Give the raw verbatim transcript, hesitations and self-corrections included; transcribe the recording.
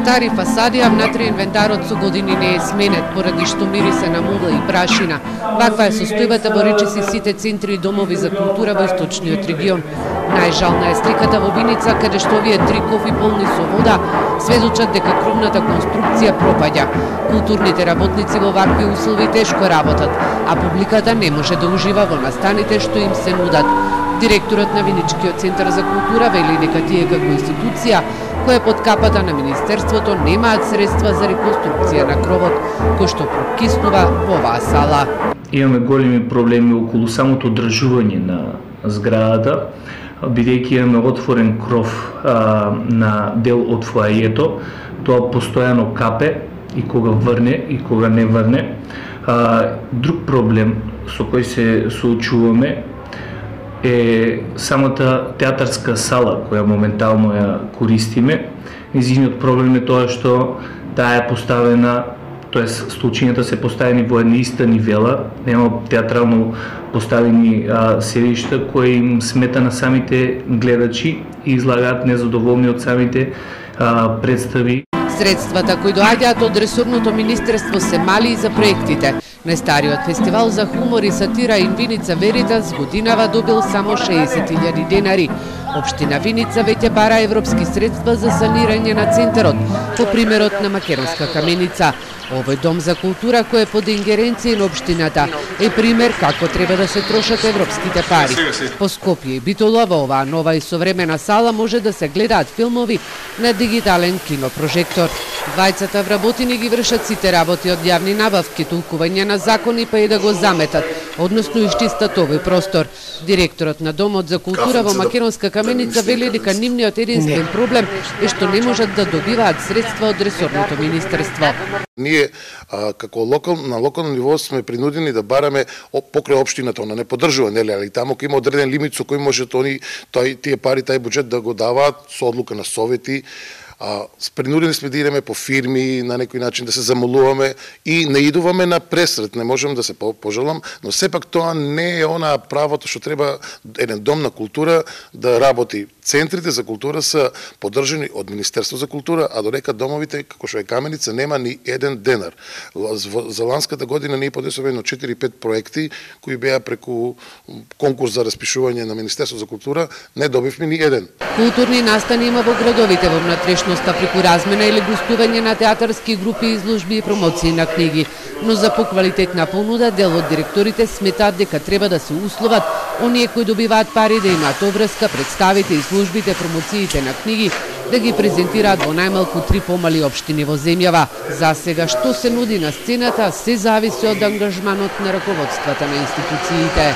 стари фасади, а внатре инвентарот со години не е сменет, поради што мирисе на мугла и прашина. Ваква е состојбата во речиси сите центри и домови за култура во источниот регион. Најжална е сликата во Виница, каде што овие три кофи полни со вода сведочат дека кровната конструкција пропаѓа. Културните работници во вакви услови тешко работат, а публиката не може да ужива во настаните што им се нудат. Директорот на Виничкиот центар за култура вели дека тие како институција која под капата на Министерството немаат средства за реконструкција на кровот, кој што прокиснува во оваа сала. Имаме големи проблеми околу самото одржување на зградата, бидејќи имаме отворен кров а, на дел од фоајето, тоа постојано капе и кога врне и кога не врне. А, друг проблем со кој се соочуваме е самата театарска сала која моментално ја користиме. Низиниот проблем е тоа што таа е поставена, тоест столчињата се поставени во една иста нивела, нема театрално поставени а, седишта кои им смета на самите гледачи и излагаат незадоволни од самите а, представи. Средствата кои доаѓаат од ресорното министерство се мали и за проектите. Најстариот фестивал за хумор и сатира ин Виница Веритас годинава добил само шеесет илјади денари. Општина Виница веќе бара европски средства за санирање на центарот, по примерот на Македонска каменица. Овој дом за култура кој е под ингеренција на општината е пример како треба да се трошат европските пари. По Скопје и Битола во оваа нова и современа сала може да се гледаат филмови на дигитален кинопрожектор. Двајцата вработени ги вршат сите работи од јавни набавки, толкување на закони па и да го заметат, односно исчистат овој простор. Директорот на Домот за култура во Македонска каменица вели дека нивниот единствен проблем е што не можат да добиваат средства од ресорното министерство. Ние а, како локал, на локално ниво сме принудени да бараме покрај општината, она не поддржува, нели, али таму има одреден лимит со кој може тони тој тие пари, тај буџет да го даваат со одлука на совети. А, принудени сме да идеме по фирми, на некој начин да се замолуваме и не идуваме на пресрет, не можам да се пожалам, но сепак тоа не е она правото што треба еден дом на култура да работи. Центрите за култура се поддржани од Министерство за култура, а додека домовите, како што е Каменица, нема ни еден денар. За ланската година ние подесуваме четири-пет проекти кои беа преку конкурс за распишување на Министерство за култура, не добивме ни еден. Културни настани има во градовите во внатрешноста преку размена или гостување на театарски групи, изложби и промоции на книги, но за поквалитетна понуда дел од директорите сметаат дека треба да се условат оние кои добиваат пари да имаат обврска, представите, изложбите, промоциите на книги да ги презентираат во најмалку три помали општини во земјава. За сега што се нуди на сцената се зависи од ангажманот на раководствата на институциите.